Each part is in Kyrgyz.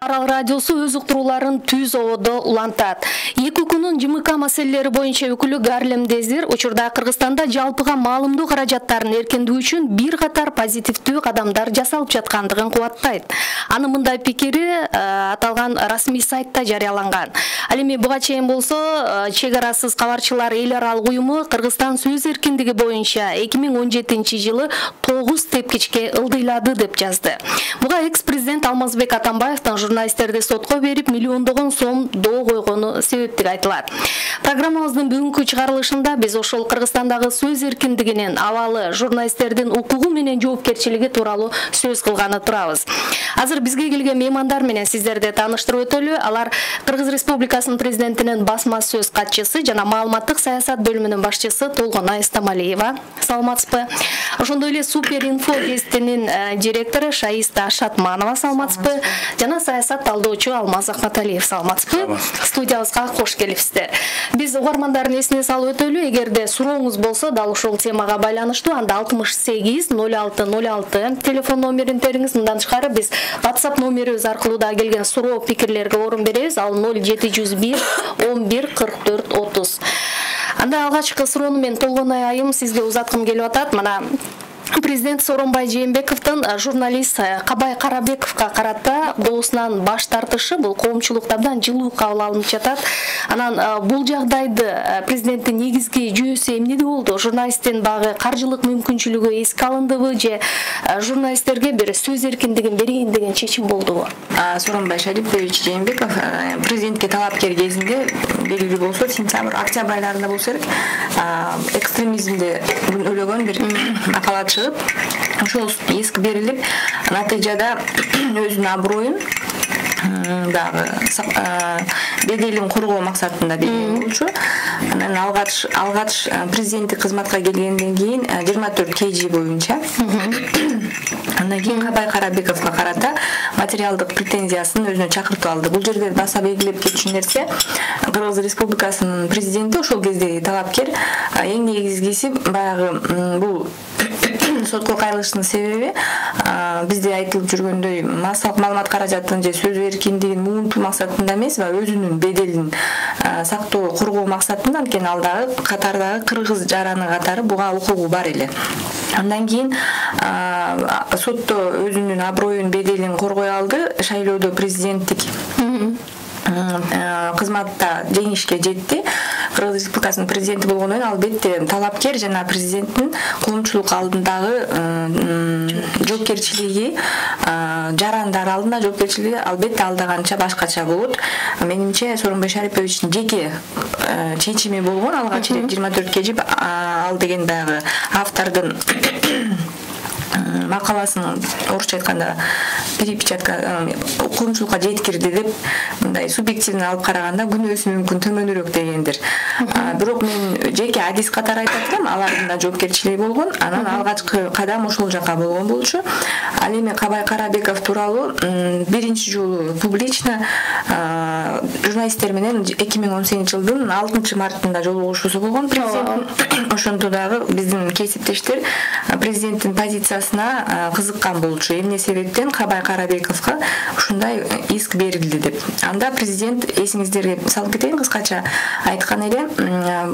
Арал радиосу өз уктурууларын түз ободо улантат. 2 күнүн ЖМК маселелери боюнча өкүлү Гарлем Дезир учурда Кыргызстанда жалпыга маалымдоо каражаттарын эркиндүү үчүн бир катар позитивдүү кадамдар жасалып жаткандыгын кубаттайт. Анын мындай пикири аталган расмий сайтта жарыяланган. Ал эми буга чейин болсо чек арасыз кабарчылар эл аралык уюму Кыргызстан сөз эркиндиги боюнча 2017-жылы 9 тепкичке ылдыйлады деп жазды. Буга экс-президент Алмазбек Атамбаевдин журналисттерди сотко берип миллиондогон сом доо койгону себептик айтылат. Программабыздын бүгүнкү чыгарылышында биз ошол Кыргызстандагы сөз эркиндигинин абалы, журналисттердин укугу менен жоопкерчилиги тууралуу сөз кылганы турабыз. Азыр бизге келген меймандар менен сиздерди тааныштырып өтөлү. Алар Кыргыз Республикасынын президентинин басма сөз катчысы жана маалыматтык саясат бөлүмүнүн башчысы Толгонай Стамалиева. Саламатсызбы? Ошондой эле Супер инфо гезитинин директору Шаиста Шатманова. Саламатсызбы? Жана саясат талдоочу Алмаз Акматалиев. Саламатсызбы? Студиябызга кош келипсиздер. Биз угармандардын эсине салып өтөлү. Эгерде сурооңуз болсо, дал ушул темага байланыштуу анда 68 06 06 телефон номерин териңиз. Мындан тышкары биз WhatsApp номерибиз аркылуу да келген суроо пикирлерге орун беребиз. Ал 0701 11 44 30. Анда алгачкы суроону мен Толгонай айым сизге узаткым келип атат. Мына Президент Сооронбай Жээнбековдун журналист Кабай Карабековго карата доосунан баш тартышы бул коомчулукта абдан жылуу кабыл алынып жатат. Анан бул жагдайды президенттин негизги жүйөсү эмнеде болду? Журналисттин багы каржылык мүмкүнчүлүгү эске алындыбы же журналисттерге бир сөз эркиндигин берейин деген чечим болдубу? Сооронбай Шарипович Жээнбеков президентке талапкер кезинде белгилүү болсо сентябрь, октябрь айларында болсо керек, экстремизмди өлөгөн бир макала чыгып, ошол иск берилип, натыйжада өзүнүн аброюн дагы беделин коргоо максатында берген болчу. Анан алгач президенттик кызматка келгенден кийин 24 KG боюнча андан кийин Кабай Карабековго карата материалдык претензиясын өзүнө чакыртып алды. Бул жерде баса белгилеп кетчү нерсе, Кыргыз Республикасынын президенти ошол кездеги талапкер эң негизгиси баягы бул сотко кайрылыштын себеби бизде айтылып жүргөндөй массалык маалымат каражатын же сөз эркиндигин муунтуу максатында эмес, өзүнүн беделин сактоо, коргоо максатында, анткени ал дагы катардагы кыргыз жараны катары буга укугу бар эле. Андан кийин сотто өзүнүн аброюн, беделин коргой алды, шайлоодо президенттик кызматта жеңишке жетти. Кыргыз Республикасынын президенти болгондон кийин албетте талапкер жана президенттин коомчулук алдындагы жоопкерчилиги, жарандар алдында жоопкерчилиги албетте алдаганча башкача болот. Менимче Сооронбай Шариповичтин жеке чечими болгон алгач 24 KG ал деген баягы автордун макаласын орусча айтканда перепечатка коомчулукка жеткирди деп мындай субъективно алып караганда күнөөсү мүмкүн төмөнүрөөк дегендир. Бирок мен жеке адис катары айтат элем, алардын да жоопкерчилиги болгон. Анан алгачкы кадам ошол жака болгон болчу. Ал эми Кабай Карабеков тууралуу биринчи жолу публично журналисттер менен 2018-жылдын 6-мартында жолугушуусу болгон президенттин. Ошондо дагы биздин кесиптештер президенттин позициясына кызыккан болчу. Эмне себептен Кабай Карабековго ушундай иск берилди деп. Анда президент, эсиңиздерге салып кетейин кыскача айткан эле,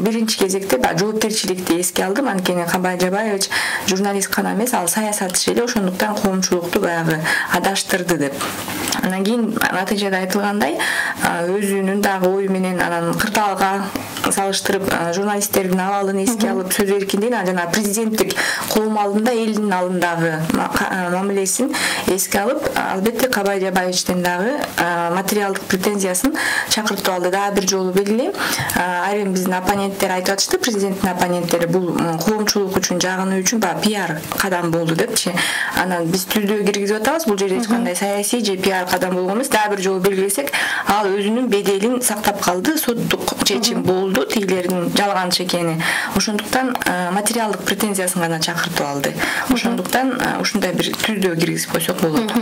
биринчи кезекте жоопкерчиликти эске алдым, анткени Кабай Жабаевич журналист гана эмес, ал саясатчы эле, ошондуктан коомчулукту баягы адаштырды деп. Андан кийин натыйжада айтылгандай, өзүнүн дагы ою менен анан кырдаалга салыштырып журналисттердин абалын эске алып, сөз эркиндигин жана президенттик коом алдында, элдин алдындагы мамилесин эске алып, албетте Кабай Жабаевичтин дагы материалдык претензиясын чакыртып алды. Дагы бир жолу белгилейм, айрым биздин оппоненттер айтып атышты, президенттин оппоненттери бул коомчулук үчүн, жагынуу үчүн пиар кадам болду депчи. Анан биз түздөө киргизип атабыз, бул жерде эч кандай саясий же пиар кадам болгон эмес. Дагы бир жолу белгилесек, ал өзүнүн беделин сактап калды, соттук чечим болду, тигилердин жалганчы экени. Ошондуктан материалдык претензиясын гана чакыртып алды. Ошондуктан ушундай бир түздөө киргизип койсок болот.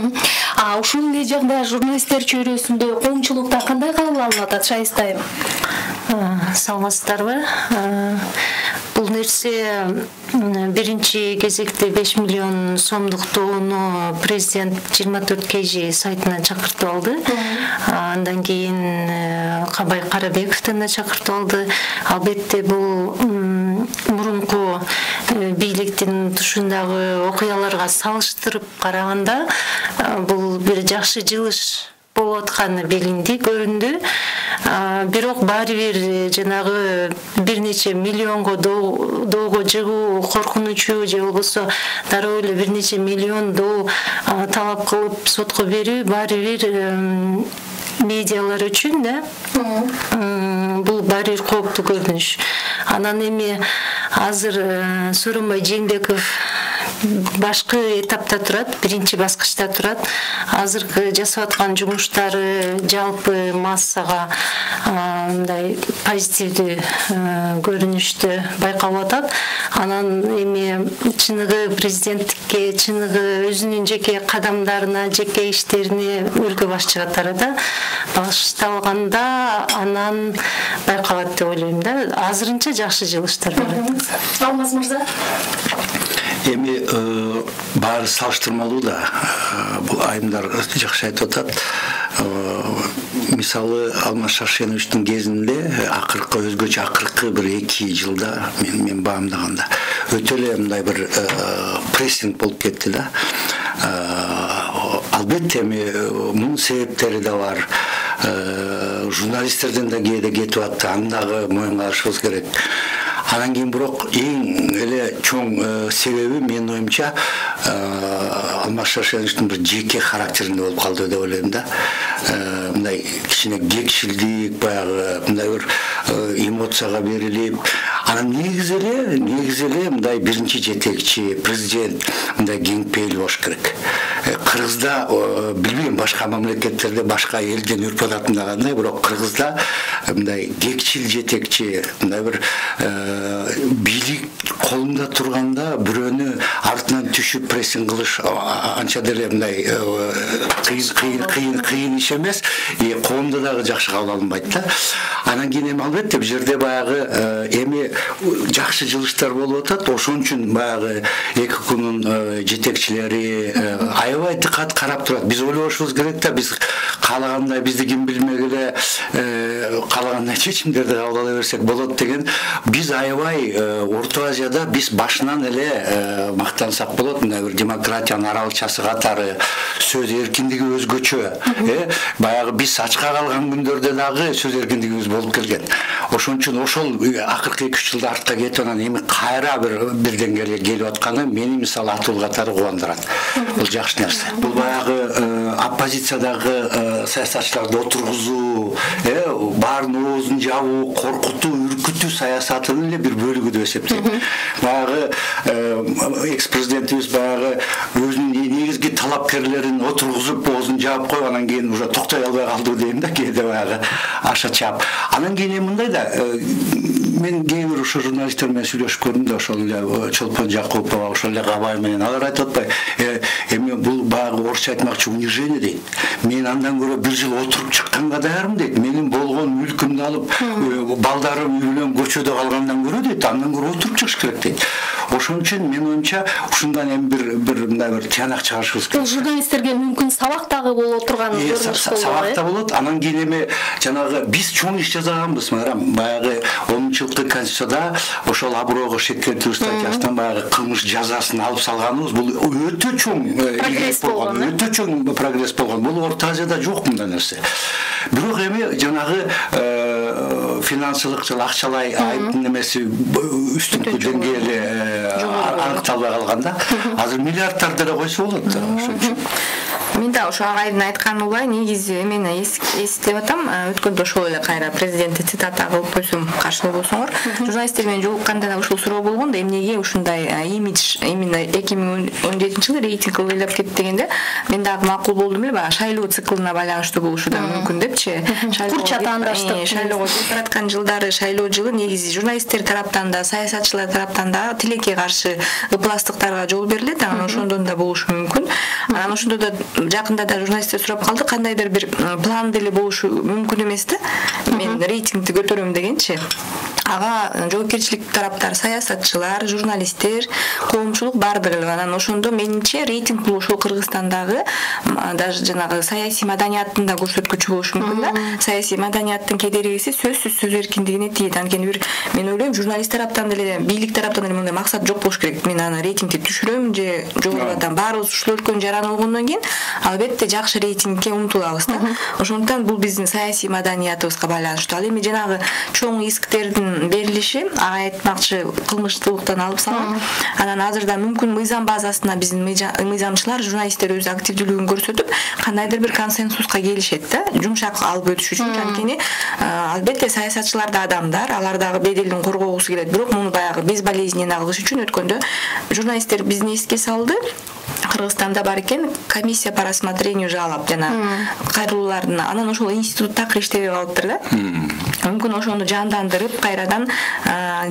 Ушул эле жагда журналисттер чөйрөсүндө коомчулукта кандай кабыл алынып атат, Шаистайым? Саламатсыздарбы? Бул нерсе биринчи кезекте 5 миллион сомдук доону президент 24 KG сайтынан чакыртып алды. Андан кийин Кабай Карабековдон да чакыртып алды. Албетте бул мурунку бийликтин тушундагы окуяларга салыштырып караганда бул бир жакшы жылыш болуп атканы билинди, көрүндү. Бирок баары бир жанагы бир нече миллионго доого жыгуу коркунучу же болбосо дароо эле бир нече миллион доо талап кылып сотко берүү баары бир медиалар үчүн да бул баары бир кооптуу көрүнүш. Анан эми азыр Сооронбай Жээнбеков башкы этапта турат, биринчи баскычта турат. Азыркы жасап аткан жумуштары жалпы массага мындай позитивдүү көрүнүштү байкалып атат. Анан эми чыныгы президенттикке, чыныгы өзүнүн жеке кадамдарына, жеке иштерине өлкө башчы катары башталганда анан байкалат деп ойлойм да. Азырынча жакшы жылыштар бар. Алмаз мырза. Эми баары салыштырмалуу да, бул айымдар жакшы айтып атат. Мисалы Алмаз Шаршеновичтин кезинде акыркы өзгөчө акыркы бир 2 жылда мен баамдаганда өтө эле мындай бир прессинг болуп кетти да. Албетте эми мунун себептери да бар. Журналисттерден да кээде кетип атты, аны дагы моюнга алышыбыз керек. Анан кийин бирок эң эле чоң себеби менин оюмча Алмаз Шаршеновичтин бир жеке характеринде болуп калды деп ойлойм да. Мындай кичине кекшилдик, баягы мындай бир эмоцияга берилип, анан негизи эле мындай биринчи жетекчи президент мындай кең пейил болуш керек. Кыргызда билбейм, башка мамлекеттерде башка элден үрп ататында кандай, бирок Кыргызда мындай кекчил жетекчи, мындай бир бийлик колунда турганда бирөөнү артынан түшүп прессинг кылыш анча деле мындай кыйын иш эмес, коомдо дагы жакшы кабыл алынбайт да. Анан кийин эми албетте бул жерде баягы эми жакшы жылыштар болуп атат. Ошон үчүн баягы ЭККнын жетекчилери аябай диккат карап турат. Биз ойлошубуз керек да, биз каалагандай бизди ким билмегиле каалагандай чечимдерди кабыл ала берсек болот деген. Биз аябай Орто Азияда биз башынан эле мактансак болот. Мындай бир демократиянын аралыкчасы катары, сөз эркиндиги өзгөчө. Баягы биз ачка калган күндөрдө дагы сөз эркиндигибиз болуп келген. Ошон үчүн ошол акыркы 2-3 жылда артка кетип анан эми кайра бир деңгээлге келип атканы мени мисалы Атул катары кубандырат. Бул жакшы нерсе. Бул баягы оппозициядагы саясатчыларды отургузуу, баарын оозун жабуу, коркутуу, үркүтүү саясатынын эле бир бөлүгү деп эсептейм. Баягы экс-президентибиз баягы өзүнүн негизги талапкерлерин отургузуп оозун жаап коюп анан кийин уже токтой албай калды дейм да, кээде баягы аша чаап. Анан кийин мындай да, мен кээ бир ошо журналисттер менен сүйлөшүп көрдүм да, ошол эле Чолпон Жакупова, ошол эле Кабай менен алар айтып атпайбы, эми бул баягы орусча айтмакчы унижение дейт. Мен андан көрө бир жыл отуруп чыкканга даярмын дейт. Менин болгон мүлкүмдү алып, балдарым үй менен көчөдө калгандан көрө дейт, андан көрө отуруп чыгыш керек дейт. Ошон үчүн мен оюмча ушундан эми бир мындай бир тыянак чыгарышыбыз керек. Журналисттерге мүмкүн сабак дагы болуп турган көрүнүш болот. Сабак да болот. Анан кийин эми жанагы биз чоң иш жасаганбыз, баягы 10-жылкы конституцияда ошол аброого шек келтирүү статьясынан баягы кылмыш жазасын алып салганыбыз бул өтө чоң прогресс болгон, өтө чоң прогресс болгон. Бул Орто Азияда жок мындай нерсе. Бирок эми жанагы финансылык же акчалай айыптын эмеси үстүнкү деңгээли аныкталбай калганда, азыр миллиардтар деле койсо болот. Ошон үчүн мен да ошо агайдын айтканы улай негизи мен эстеп атам, өткөндө ошол эле кайра президентти цитата кылып койсом каршы болбосоңор. Журналисттер менен жолукканда да ушул суроо болгон да, эмнеге ушундай имидж именно 2017-жылы рейтинг ыйлап кетти дегенде мен дагы макул болдум эле, баягы шайлоо циклына байланыштуу болушу да мүмкүн депчи. Курч атаандаштык. Шайлоого жаткан жылдары шайлоо жылы негизи журналисттер тараптан да, саясатчылар тараптан да тилекке каршы ыпластыктарга жол берилет, анан ошондон да болушу мүмкүн. Анан ошондо да жакында да журналисттер сурап калды, кандайдыр бир план деле болушу мүмкүн эмес да. Мен рейтингди көтөрөм дегенчи. ага жоопкерчилик тараптар саясатчылар, журналисттер, коомчулук баардыгы. Анан ошондо менимче рейтинг бул ошол Кыргызстандагы даже жанагы саясий маданияттын да көрсөткүчү болушу мүмкүн да. Саясий маданияттын кедергиси сөзсүз сөз эркиндигине тийет. Анткени бир мен ойлойм журналист тараптан деле, бийлик тараптан деле мындай максат жок болуш керек. Мен аны рейтингди түшүрөм же жогорулатам. Баарыбыз ушул өлкөнүн жараны болгондон кийин албетте жакшы рейтингке умтулабыз да. Ошондуктан бул биздин саясий маданиятыбызга байланыштуу. Ал эми жанагы чоң исктердин берилиши ага айтмакчы кылмыштуулуктан алып салган. Анан азырда мүмкүн мыйзам базасына биздин мыйзамчылар, журналисттер өз активдүүлүгүн көрсөтүп, кандайдыр бир консенсуска келишет да, жумшак алып өтүш үчүн. Анткени албетте саясатчылар да адамдар, алар дагы беделин коргогусу келет. Бирок муну баягы безболезненно кылыш үчүн өткөндө журналисттер бизди эске салды. Кыргызстанда бар экен комиссия по рассмотрению жалоб жана кайрылуулардын. Анан ошол институт так иштебей калыптыр да. Мүмкүн ошону жандандырып, кайрадан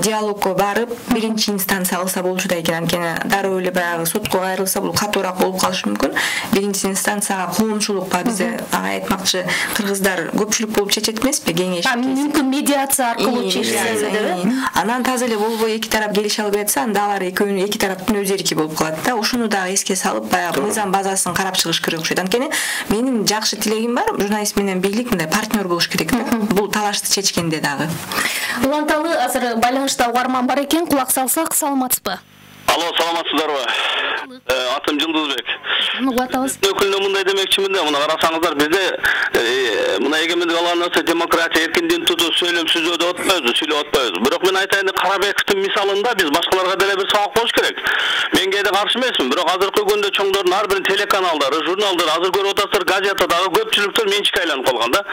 диалогко барып, биринчи инстанция алса болчу экен. Анткени дароо эле баягы сотко кайрылса бул катуураак болуп калышы мүмкүн. Биринчи инстанцияга коомчулукка бизе ага айтмакчы кыргыздар көпчүлүк болуп чечет эмеспи, кеңеш. Мүмкүн медиация аркылуу чечсе деп. Анан таза эле болбой эки тарап келише албай атса, анда алар экөөнүн эки тараптын өз эрки болуп калат да. Ошону дагы эске салып, баягы мыйзам базасын карап чыгыш керек окшойт. Анткени менин жакшы тилегим бар, журналист менен бийлик мындай партнер болуш керек да. Бул талашты чечкенде дагы. Уланталы азыр байланышта угарман бар экен, кулак салсак, саламатсызбы? Алло, саламатсыздарбы? Атым Жылдызбек. Угатабыз. Өкүлүнө мындай демекчимин да, мына карасаңыздар, бизде мына эгемендик алган нерсе демократия, эркиндик тутуу, сөйлөм сүзөдө отпойбуз, сүйлөп отпойбуз. Бирок мен айтайын, Карабековдун мисалында биз башкаларга деле бир сабак болуш керек. Мен кээде каршы эмесмин, бирок азыркы күндө чоңдордун ар бир телеканалдары, журналдар, азыр көрүп атасыздар, газетадагы көпчүлүктөр менчикке айланып калган да.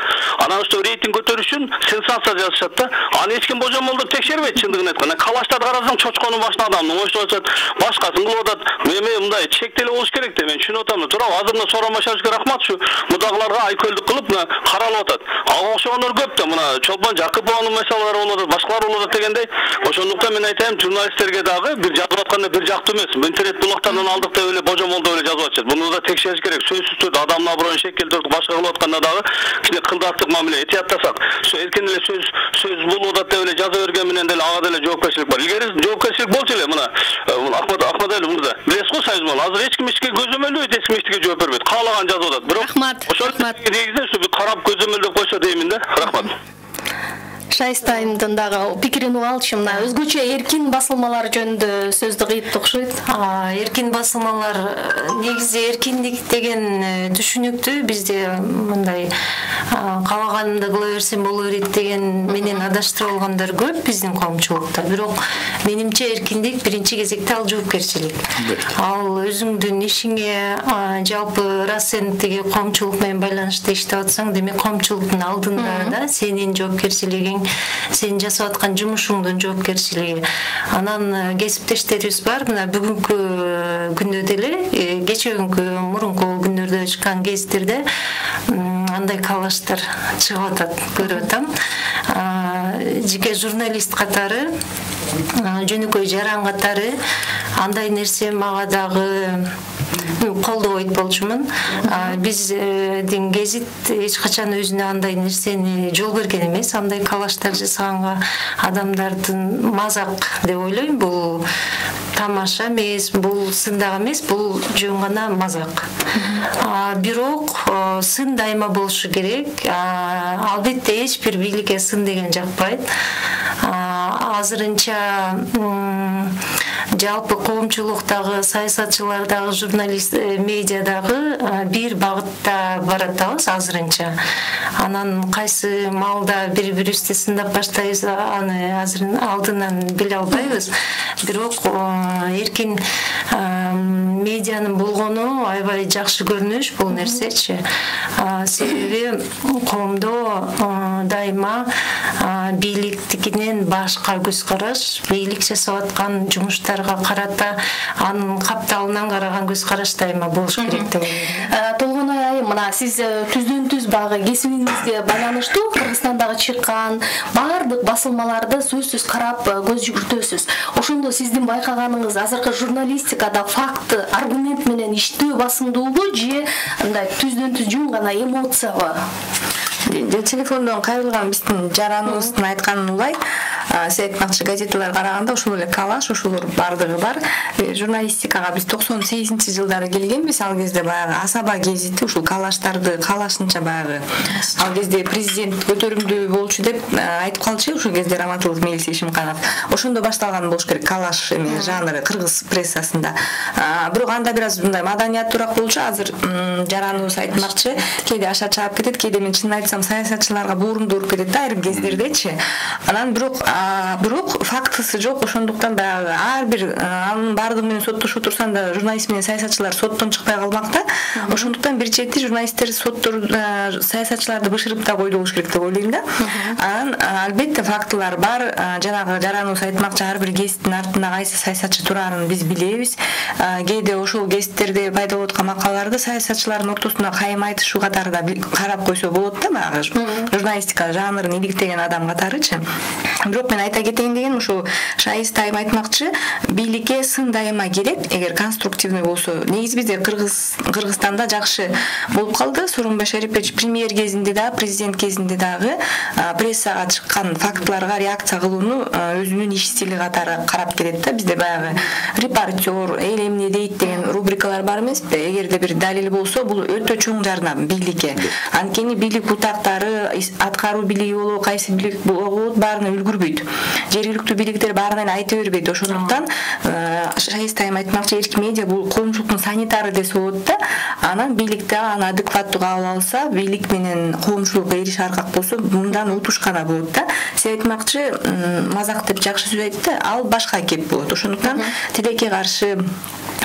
Анан ошто рейтинг көтөрүш үчүн сенсация жазышат да. Аны эч ким божомолдоп текшербейт, чындыгын айтканда. Калаштарды карасаң, чочконун башына адамдын оштоп атат, башкасын кылып атат. Мен мындай чектеле болуш керек деп мен түшүнүп атам. Туурабы? Азыр мына Соромашевскийге рахматчы, мудагыларга айкөлдүк кылып мына каралып атат. Ага окшогондор көп да, мына Чолпон Жакыпованын маселелери болуп атат, башкалар болуп атат дегендей. Ошондуктан мен айтайм, журналисттерге дагы бир жазып атканда бир жактуу эмес. Интернет булактардан алдык деп эле божомолдоп эле жазып атышат. Буну да текшериш керек. Сөзсүз түрдө адамдын аброюн шекелдирип башка кылып атканда дагы кичине кылдаттык мамиле этият атасак, эркин эле сөз болуп атат деп эле жаза берген менен деле ага деле жоопкерчилик бар. Илгери жоопкерчилик болчу эле мына Ахмадали мырза. Билесиз го Союз болду. Азыр эч ким эчке көзөмөлдөйт, эч ким эчтеге жооп бербейт. Каалаган жазып атат. Бирок ошол негизинен ушу бир карап көзөмөлдөп койсо деймин да. Рахмат. Шайстайымдын дагы пикирин угалчы, мына өзгөчө эркин басылмалар жөнүндө сөздү кыйып окшойт. Эркин басылмалар негизи эркиндик деген түшүнүктү бизде мындай каалаганымды кыла берсем боло берет деген менен адаштырып алгандар көп биздин коомчулукта. Бирок менимче эркиндик биринчи кезекте ал жоопкерчилик. Ал өзүңдүн ишиңе жалпы раз сен тиги коомчулук менен байланышта иштеп атсаң, демек коомчулуктун алдында да сенин жоопкерчилигиң, сен жасап аткан жумушуңдун жоопкерчилиги. Анан кесиптештерибиз бар, мына бүгүнкү күндө деле, кечээкүнкү мурунку күндөрдө чыккан гезиттерде андай калаштар чыгып атат, көрүп атам. Жеке журналист катары, жөнөкөй жаран катары андай нерсе мага дагы колдобойт болчумун. Биздин гезит эч качан өзүнө андай нерсени жол берген эмес. Андай калаштар жасаганга адамдардын мазак деп ойлойм. Бул тамаша эмес, бул сындак эмес, бул жөн гана мазак. Бирок сын дайыма болушу керек. Албетте эч бир бийликке сын деген жакпайт. Азырынча жалпы коомчулуктагы, саясатчылардагы, журналист, медиадагы бир багытта баратабыз азырынча. Анан кайсы маалда бири-бирибизди сындап баштайбыз, аны азыр алдынан биле албайбыз. Бирок эркин медианын болгону аябай жакшы көрүнүш бул нерсечи. Себеби коомдо дайыма бийликтикинен башка көз караш, бийлик жасап аткан жумуштарга карата анын капталынан караган көз караш дайыма болуш керек деп ойлойм. Толгоной айым, мына сиз түздөн-түз багы кесибиңизге байланыштуу Кыргызстандагы чыккан баардык басылмаларды сөзсүз карап көз жүгүртөсүз. Ошондо сиздин байкаганыңыз азыркы журналистикада факты, аргумент менен иштөө басымдуубу же андай түздөн-түз жөн гана эмоциябы? Телефондон кайрылган биздин жараныбыздын айтканын улай, сиз айтмакчы газеталар караганда ошол эле калаш ошолор бардыгы бар. Журналистикага биз 98-жылдары келгенбиз. Ал кезде баягы Асаба гезити ушул калаштарды калашынча баягы ал кезде президент көтөрүмдүү болчу деп айтып калчу ошол кезде Раматылов Мелис Ишимканов. Ошондо башталган болуш керек калаш эме жанры кыргыз прессасында. Бирок анда бир аз мындай маданияттуураак болчу. Азыр жараныбыз айтмакчы, кээде аша чаап кетет, кээде мен чынын айтсам саясатчыларга боорумду уруп кетет да айрым кездердечи. Анан бирок фактысы жок. Ошондуктан баягы ар бир анын бардыгы менен соттошуп турсаң да журналист менен саясатчылар соттон чыкпай калмакта. Ошондуктан бир чети журналисттер саясатчыларды бышырып да койду болуш керек деп ойлойм да. Анан албетте фактылар бар. Жанагы жараныбыз айтмакчы, ар бир гезиттин артында кайсы саясатчы турарын биз билебиз. Кээде ошол гезиттерде пайда болуп аткан макалаларды саясатчылардын ортосунда кайым айтышуу катары да карап койсо болот да, баягы журналистика жанрын иликтеген адам катарычы. Бирок мен айта кетейин дегеним, ушул Шайист айым айтмакчы, бийликке сын дайыма керек, эгер конструктивный болсо. Негизи бизде Кыргызстанда жакшы болуп калды. Сооронбай Шарипович премьер кезинде да, президент кезинде дагы прессага чыккан фактыларга реакция кылууну өзүнүн иш стили катары карап келет да. Бизде баягы репортер, эл эмне дейт деген рубрикалар бар эмеспи? Эгерде бир далил болсо, бул өтө чоң жардам бийликке. Анткени бийлик утактары, аткаруу бийлиги болобу, кайсы бийлик болобу, баарына үлгүрбөйт. Жергиликтүү бийликтер баарына айта бербейт. Ошондуктан Шайист айым айтмакчы, эркин медиа бул коомчулуктун санитары десе болот да. Анан бийликте аны адекваттуу кабыл алса, бийлик менен коомчулук эриш аркак болсо, мындан утуш гана болот да. Сиз айтмакчы, мазак деп жакшы сөз айтты, ал башка кеп болот. Ошондуктан тилекке каршы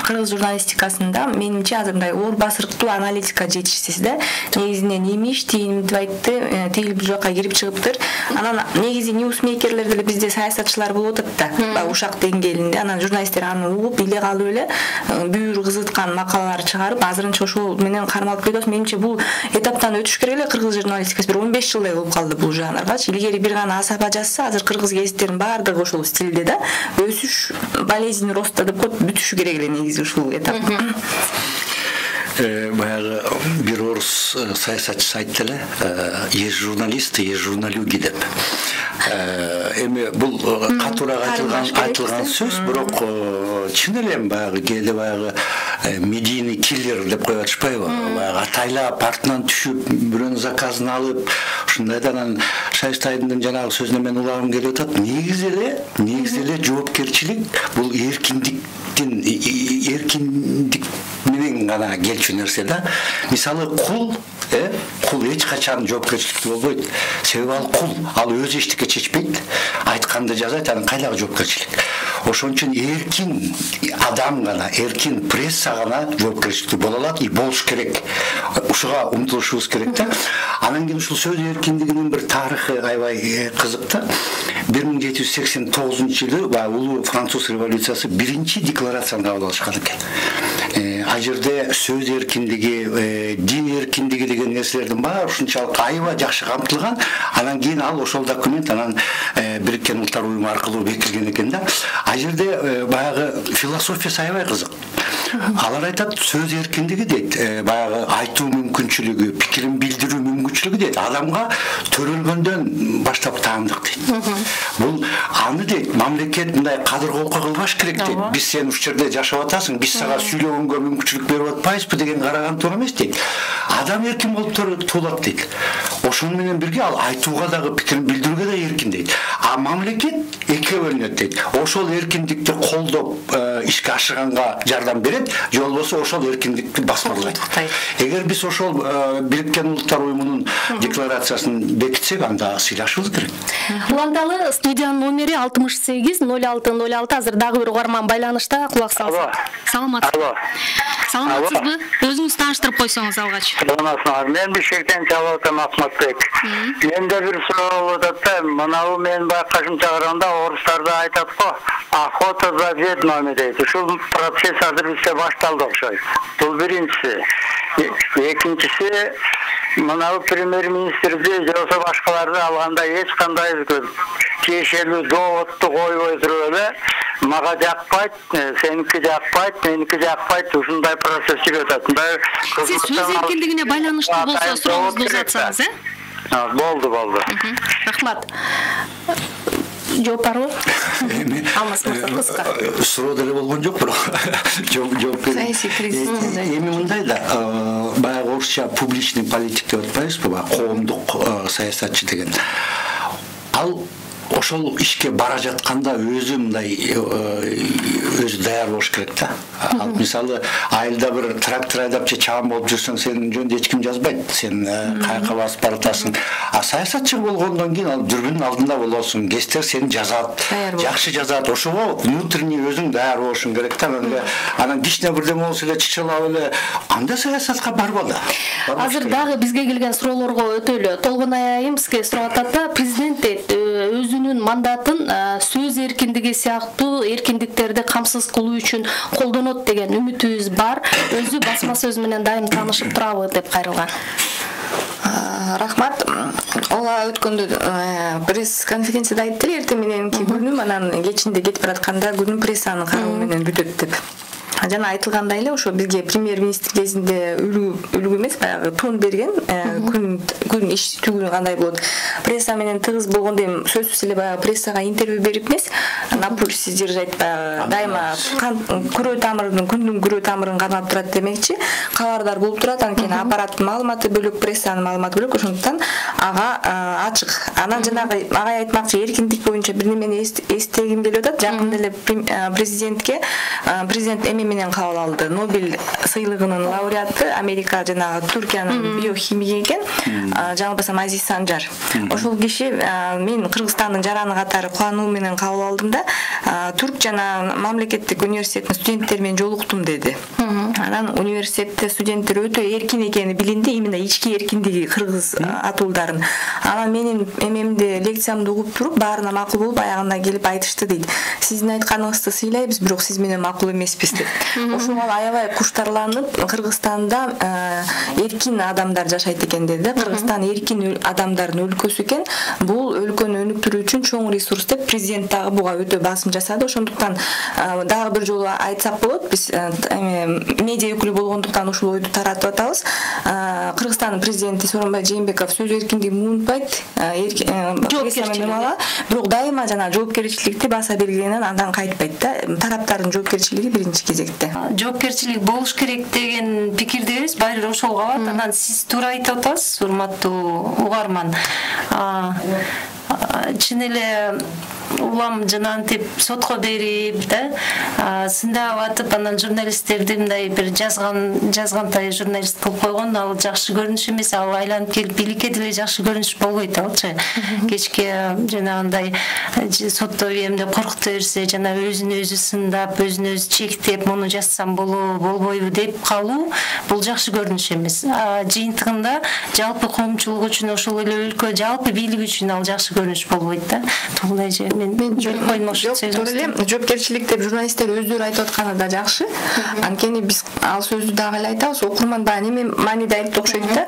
кыргыз журналистикасында менимче азыр мындай оор басырыктуу аналитика жетишсиз да. Негизинен имиш, тийлим деп айтты, тийл бир жака кирип чыгыптыр. Анан негизи ньюсмейкерлер деле бизде саясатчылар болуп атат да, ушак деңгээлинде. Анан журналисттер аны угуп, биле калып эле бүйүр кызыткан макалалар чыгарып, азырынча ошол менен кармалып кетет. Менимче бул этаптан өтүш керек эле кыргыз журналистикасы. Бир 15 жылдай болуп калды бул жанргачы. Илгери бир гана Асаба жазса, азыр кыргыз гезиттеринин баардыгы ошол стилде да. Өсүш, болезнь роста деп коет, бүтүшү керек эле негизи ушул этап. Баягы бир орус саясатчысы айтты эле, есть журналисты, есть журналюги деп. Эми бул катуураак айтылган сөз, бирок чын эле баягы кээде баягы медийный киллер деп коюп атышпайбы? Баягы атайлап артынан түшүп, бирөөнүн заказын алып, ушундайда анан Шайист айымдын жанагы сөзүнө мен улагым келип атат. Негизи эле жоопкерчилик бул эркиндик менен гана келчү нерсе да. Мисалы кул эч качан жоопкерчиликтүү болбойт. Себеби ал кул, ал өзү эчтеке чечпейт. Айтканды жазат, анын кайдагы жоопкерчилик. Ошон үчүн эркин адам гана, эркин пресса гана жоопкерчиликтүү боло алат и болуш керек. Ушуга умтулушубуз керек да. Анан кийин ушул сөз эркиндигинин бир тарыхы аябай кызык да. 1789-жылы улуу француз революциясы биринчи декларацияны кабыл алышкан экен. Ал жерде сөз эркиндиги, дин эркиндиги деген нерселердин баары ушунчалык аябай жакшы камтылган. Анан кийин ал ошол документ анан Бириккен Улуттар уюму аркылуу бекитилген экен да. Ал жерде баягы философиясы аябай кызык. Алар айтат, сөз эркиндиги дейт, баягы айтуу мүмкүнчүлүгү, пикирин билдирүү мүмкүнчүлүгү дейт, адамга төрөлгөндөн баштап таандык дейт. Бул аны дейт, мамлекет мындай кадыр колко кылбаш керек дейт. Биз сен ушул жерде жашап атасың, биз сага сүйлөгөнгө мүмкүнчүлүк берип атпайбызбы деген караган туура эмес дейт. Адам эркин болуп туулат дейт. Ошону менен бирге ал айтууга дагы, пикирин билдирүүгө да эркин дейт. А мамлекет экиге бөлүнөт дейт. Ошол эркиндикти колдоп ишке ашырганга жардам берет, же болбосо ошол эркиндикти басмырлайт. Эгер биз ошол Бириккен Улуттар уюмунун декларациясын бекитсек, анда сыйлашыбыз керек. Уланталы студиянын номери 68 06 06. Азыр дагы бир угарман байланышта, кулак салсак. Саламатсызбы? Саламатсызбы? Өзүңүз тааныштырып койсоңуз алгач. Саламатсызбы? Мен Бишкектен Чалоотан Акматбек. Менде бир суроо болуп атат да, мынабу мен байкашымча караганда орустарда айтат го, охота за ведьмами дейт. Ушул процесс азыр бизде башталды окшойт. Бул биринчиси. Экинчиси, мынабу премьер-министрди же болбосо башкаларды алганда эч кандай тиешелүү доводду койбой туруп эле мага жакпайт, сеники жакпайт, меники жакпайт, ушундай процесс жүрүп атат. Сиз сөз эркиндигине байланыштуу болсо сурооңузду узатсаңыз, Болду. Рахмат. жооп барбы? Алмаз мырза кыска. Суроо деле болгон жок, бирок жооп саясий кризис. Эми мындай да, баягы орусча публичный политик деп атпайбызбы, баягы коомдук саясатчы деген. Ал ошол ишке бара жатканда өзү мындай өзү даяр болуш керек да. Ал мисалы айылда бир трактор айдап же чабан болуп жүрсөң, сенин жөнүндө эч ким жазбайт. Сен каяка басып баратасың. А саясатчы болгондон кийин ал дүрбүнүн алдында болосуң. Гестер сени жазат, жакшы жазат. Ошого внутренний өзүң даяр болушуң керек да. Анан кичине бирдеме болсо эле чычылап эле анда саясатка барбады. Азыр дагы бизге келген суроолорго өтөлү. Толгонай айым сизге сурап атат да, президент өзүнүн мандатын сөз эркиндиги сыяктуу эркиндиктерди камсыз кылуу үчүн колдонот деген үмүтүбүз бар. Өзү басма сөз менен дайым таанышып турабы деп кайрылган. Рахмат. Ола өткөндө пресс-конференцияда айтты эле, эртең мененки күнүм, анан кечинде кетип баратканда күнүм прессанын кароо менен бүтөт деп. Жана айтылгандай эле, ошо бизге премьер-министр кезинде үлгү эмес, баягы тон берген, күн иш түгүнү кандай болот. Пресса менен тыгыз болгондо эми сөзсүз эле баягы прессага интервью берип эмес, на пульсе держать, баягы дайыма күрөө тамырын, күндүн күрөө тамырын кармап турат демекчи, кабардар болуп турат. Анткени аппараттын маалыматы бөлөк, прессанын маалыматы бөлөк, ошондуктан ага ачык. Анан жанагы ага айтмакчы, эркиндик боюнча бир немени эстегим келип атат. Жакында эле президент эми менен кабыл алды. Нобель сыйлыгынын лауреаты Америка жана Түркиянын биохимиги экен, жаңылбасам Азиз Санжар. Ошол киши мен Кыргызстандын жараны катары кубануу менен кабыл алдым да, Түрк жана мамлекеттик университеттин студенттери менен жолуктум деди. Анан университетте студенттер өтө эркин экени билинди, именно ички эркиндиги кыргыз атуулдарын. Анан менин эмемди, лекциямды угуп туруп, баарына макул болуп, аягына келип айтышты дейт. Сиздин айтканыңызды сыйлайбыз, бирок сиз менен макул эмеспиз деп. Ошого аябай куштарланып, Кыргызстанда эркин адамдар жашайт экен деди. Кыргызстан эркин адамдардын өлкөсү экен. Бул өлкөнү өнүктүрүү үчүн чоң ресурс деп президент дагы буга өтө басым жасады. Ошондуктан дагы бир жолу айтсак болот, биз медиа өкүлү болгондуктан ушул ойду таратып атабыз. Кыргызстандын президенти Сооронбай Жээнбеков сөз эркиндигин унутпайт, бирок дайыма жана жоопкерчиликти баса белгиленен андан кайтпайт да. Тараптардын жоопкерчилиги биринчи кезекте. Жоопкерчилик болуш керек деген пикирдебиз, баары ошол калат. Анан сиз туура айтып атасыз, урматтуу угарман. Чын эле улам жанантип сотко берип да, сындап атып, анан журналисттерди мындай бир жазгантай журналист кылып койгон, ал жакшы көрүнүш эмес. Ал айланып келип бийликке деле жакшы көрүнүш болбойт алчы. Кечке жанагындай сотто эмне коркута берсе, жана өзүн өзү сындап, өзүн өзү чектеп, муну жазсам болбойбу деп калуу, бул жакшы көрүнүш эмес. Жыйынтыгында жалпы коомчулук үчүн, ошол эле өлкө жалпы бийлик үчүн ал жакшы көрүнүш болбойт да. Толгонайжы мен жоопкерчилик деп журналисттер өздөрү айтып атканы да жакшы. Анткени биз ал сөздү дагы эле айтабыз. Окурман баягы неме мааниде айтып окшойт да.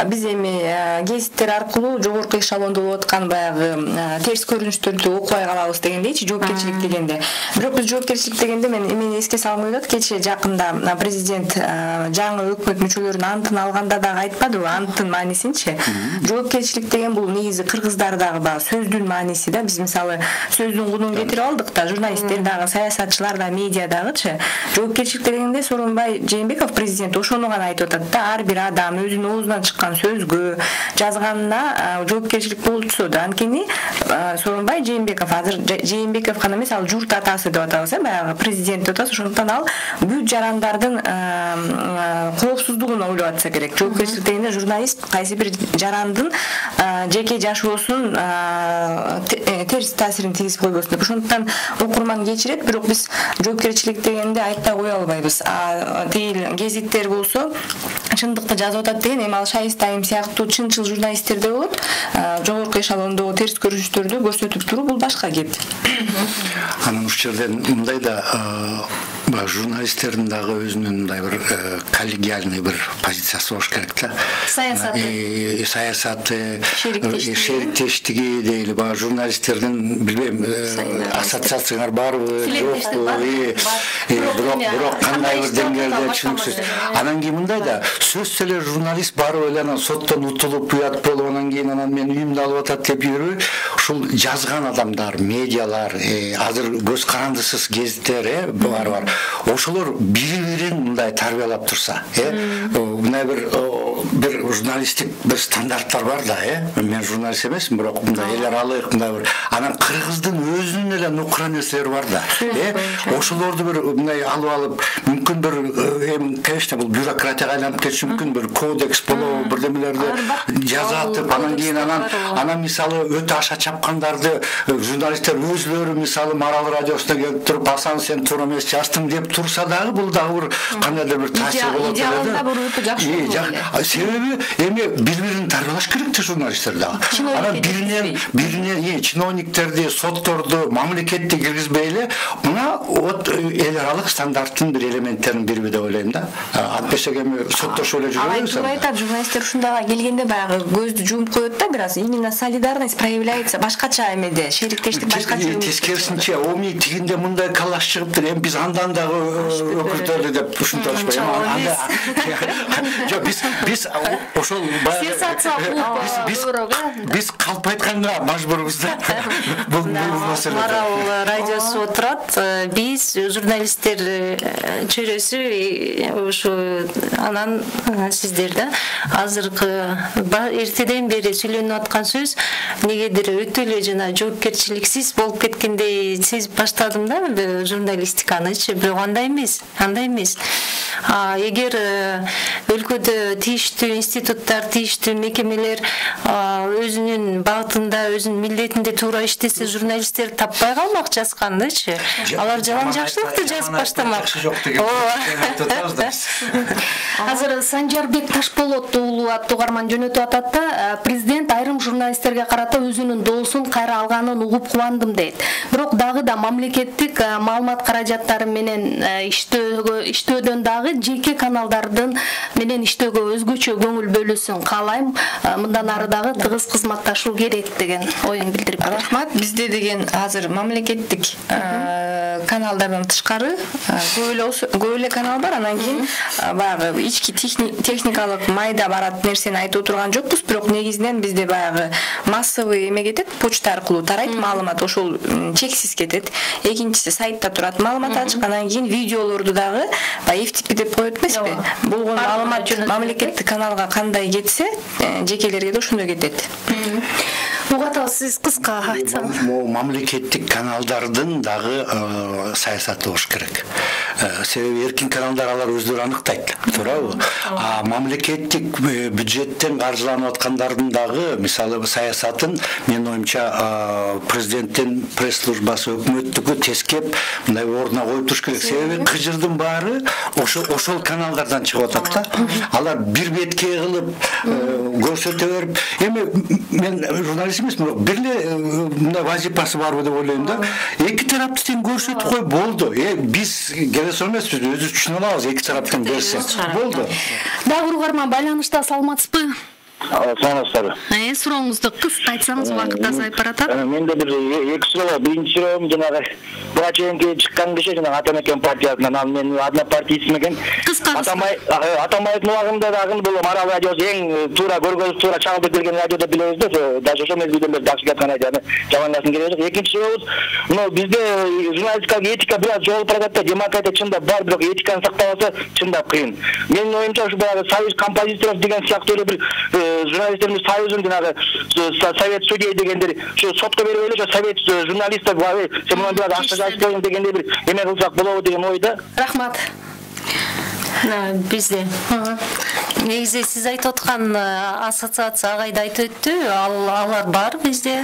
Биз эми гезиттер аркылуу жогорку эшелондо болуп аткан баягы терс көрүнүштөрдү окубай калабыз дегендейчи, жоопкерчилик дегенде. Бирок биз жоопкерчилик дегенде эмени эске салгым келет. Кечээ жакында президент жаңы өкмөт мүчөлөрүнүн антын алганда дагы айтпадыбы, антын маанисинчи. Жоопкерчилик деген бул негизи кыргыздардагы баягы сөздүн мааниси да. Биз мисалы сөздүн кунун кетирип алдык да, журналисттер дагы, саясатчылар да, медиа дагычы. Жоопкерчилик дегенде Сооронбай Жээнбеков президент ошону гана айтып атат да, ар бир адам өзүнүн оозунан чыккан сөзгө, жазганына жоопкерчилик болсо да. Анткени Сооронбай Жээнбеков азыр Жээнбеков гана эмес, ал журт атасы деп атабыз, баягы президент деп атабыз. Ошондуктан ал бүт жарандардын коопсуздугун ойлоп атса керек. Жоопкерчилик дегенде журналист кайсы бир жарандын жеке жашоосун терс таасирин тийгизип койбосун деп. Ошондуктан окурман кечирет, бирок биз жоопкерчилик дегенде айтпай кое албайбыз. Тиил гезиттер болсо чындыкты жазып атат деген, эми ал Шайыста айым сыяктуу чынчыл журналисттер да болот. Жогорку эшелондогу терс көрүнүштөрдү көрсөтүп туруу бул башка кеп. Анан ушул жерден мындай да Журналисттердин дагы өзүнүн мындай бир коллегиальный бир позициясы болуш керек да. Саясаты, шериктештиги дейли, баягы журналисттердин билбейм, ассоциацияңар барбы, жокпу, бирок кандай бир деңгээлде түшүнүксүз. Анан кийин мындай да, сөзсүз эле журналист барып эле анан соттон утулуп, уят болуп, анан кийин анан мен үйүмдү алып атат деп жүрбөй, ушул жазган адамдар, медиалар, азыр көз карандысыз гезиттер бар. Ошолор бири-бирин мындай тарбиялап турса, мындай бир журналисттик бир стандарттар бар да, мен журналист эмесмин, бирок мындай эл аралык мындай бир анан кыргыздын өзүнүн эле нукура нерселери бар да. Ошолорду бир мындай алып, мүмкүн бир конечно бул бюрократияга айланып кетиши мүмкүн, бир кодекс болобу, бирдемелерди жазатып, анан кийин анан мисалы өтө аша чапкандарды журналисттер өзлөрү мисалы Марал радиосуна келип туруп, Асан сен туура эмес жаздың деп турса дагы, бул дагы бир кандайдыр бир таасир болот эле. Себеби эми бири-бирин тарбиялаш керек да журналисттер дагы. Анан биринен чиновниктерди, сотторду, мамлекетти киргизбей эле, мына эл аралык стандарттын бир элементтерин бириби деп ойлойм да. Антпесек эми соттошуп эле жүрөбүз. Алай айтат, журналисттер ушундайга келгенде баягы көздү жумуп коет да, бир аз именно солидарность проявляется башкача эмеде, шериктештик башкача. Тескерисинче, оми тигинде мындай калаш чыгыптыр, эми биз андан дагы өкүлдөрдү деп ушунтурушпайбы. Жок, биз ошол биз калп айтканга мажбурбуз да. Бул маселе. Марал радиосу отурат, биз журналисттер чөйрөсү ушу анан сиздер да азыркы эртеден бери сүйлөнүп аткан сөз негедир өтө эле жана жоопкерчиликсиз болуп кеткендей сезип баштадым да журналистиканычы, бирок андай эмес. Эгер өлкөдө тийиштүү институттар, тийиштүү мекемелер өзүнүн багытында, өзүнүн милдетинде туура иштесе, журналисттер таппай калмак жазгандычы. Алар жалаң жакшылыкты жазып баштамак. Азыр Санжарбек Ташполот уулу аттуу карман жөнөтүп атат да, президент айрым журналисттерге карата өзүнүн доосун кайра алганын угуп кубандым дейт. Бирок дагы да мамлекеттик маалымат каражаттары менен иштөөдөн дагы жеке каналдардын менен иштөөгө өзгөчө көңүл бөлүүсүн каалайм. Мындан ары дагы тыгыз кызматташуу керек деген оюн билдирип. Рахмат. Бизде деген азыр мамлекеттик каналдардан тышкары көп эле канал бар. Анан кийин баягы ички техникалык майда барат нерсени айтып отурган жокпуз, бирок негизинен бизде баягы массовый эме кетет, почта аркылуу тарайт маалымат, ошол чексиз кетет. Экинчиси сайтта турат маалымат ачык, анан кийин видеолорду дагы FTP деп коет эмеспи? Болгон маалымат мамлекеттик каналга кандай кетсе, жекелерге да ошондой кетет. Угата сиз кыска айтсаңыз. Мамлекеттик каналдардын дагы саясаты болуш керек. Себеби эркин каналдар алар өздөрү аныктайт, туурабы? Мамлекеттик бюджеттен каржыланып аткандардын дагы мисалы саясатын менин оюмча президенттин пресс службасы, өкмөттүкү тескеп мындай ордуна коюп туруш керек. Себеби кыжырдын баары ошол каналдардан чыгып атат да. Алар бир бетке кылып көрсөтө берип, эми мен журналист эмесмин, бирок бир эле мындай вазипасы барбы деп ойлойм да. Эки тарапты тең көрсөтүп кой болду. Биз келесо эмеспиз, өзүбүз түшүнө алабыз, эки тараптан берсе болду. Дагы угарман байланышта саламатсызбы? Саламатсызбы? Сурооңузду кыска айтсаңыз, убакыт азайып баратат. Менде бир эки суроо бар. Биринчи суроом жанагы буга чейинки чыккан киши жанагы Атамекен партиясынан, ал мен однопартиец экен. Атамбаевдин убагында дагы бул Марал радиосу эң туура көргөнүбүз, туура чагылып келген радио деп билебиз да. Даже ошол мезгилден бери жакшы кеткен айда жамандасын керек жок. Экинчи сурообуз, бизде журналистикалык этика бир аз жоголуп баратат да. Демократия чындап бар, бирок этиканы сактабаса чындап кыйын. Менин оюмча ушу баягы союз композиторов деген сыяктуу эле бир журналисттерimiz союзун жанагы совет судей дегендер ушу сотко берип эле совет журналисттер сен мына бир ашта жазып койгон дегендей бир эме кылсак болобу деген ойда. Рахмат. Бизде негизи сиз айтып аткан ассоциация агайда айтып өттү, алар бар бизде.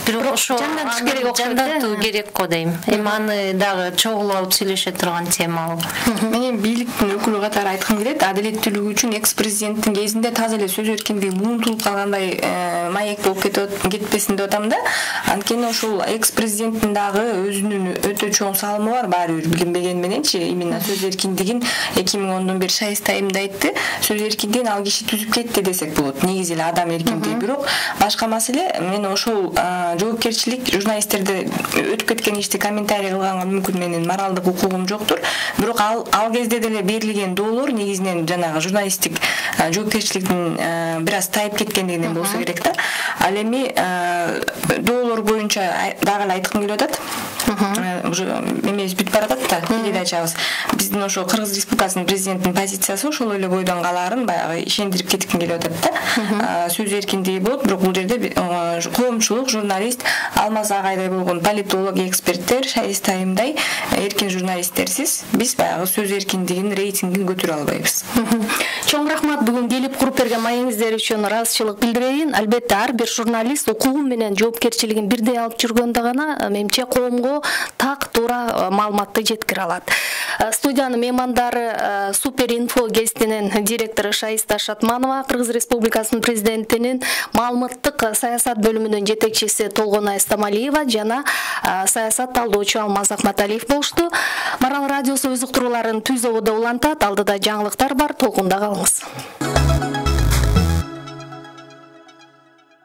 Бирок ошо жандантуу керек го дейм. Эми аны дагы чогуу алып сүйлөшө турган тема ал. Мен бийликтин өкүлү катары айткым келет, адилеттүүлүк үчүн экс-президенттин кезинде таза эле сөз эркиндиги муунтулуп калгандай маек болуп кетпесин деп атам да. Анткени ошол экс-президенттин дагы өзүнүн өтө чоң салымы бар, баары бир билинбеген мененчи, именно сөз эркиндигин 2010 бери Шайыста айымда айтты. Сөз эркиндигин ал киши түзүп кетти десек болот. Негизи эле адам эркиндиги. Бирок башка маселе, мен ошол жоопкерчилик журналисттерде өтүп кеткен ишти комментарий кылганга мүмкүн менин моралдык укугум жоктур. Бирок ал кезде деле берилген доолор негизинен жанагы журналисттик жоопкерчиликтин бир аз тайып кеткендигинен болсо керек да. Ал эми доолор боюнча дагы эле айткым келип атат. Уже эмес бүтүп баратат да, передачабыз. Биздин ошо Кыргыз Республикасынын президентинин позициясы ошол эле бойдон калаарын баягы ишендирип кетким келип атат да. Сөз эркиндиги болот, бирок бул жерде коомчулук, журналист, Алмаз агайдай болгон политолог, эксперттер, Шайыста айымдай эркин журналисттерсиз биз баягы сөз эркиндигинин рейтингин көтөрө албайбыз. Чоң рахмат бүгүн келип куруп берген маегиңиздер үчүн ыраазычылык билдирейин. Албетте ар бир журналист укугу менен жоопкерчилигин бирдей алып жүргөндө гана менимче коомго так туура маалыматты жеткире алат. Студиянын меймандары Супер Инфо гезитинин директору Шайыста Шатманова, Кыргыз Республикасынын президентинин маалыматтык саясат бөлүмүнүн жетекчиси Толгонай Стамалиева жана саясат талдоочу Алмаз Акматалиев болушту. Марал радиосу өз уктурууларын түз ободо улантат. Алдыда жаңылыктар бар, толкунда калыңыз.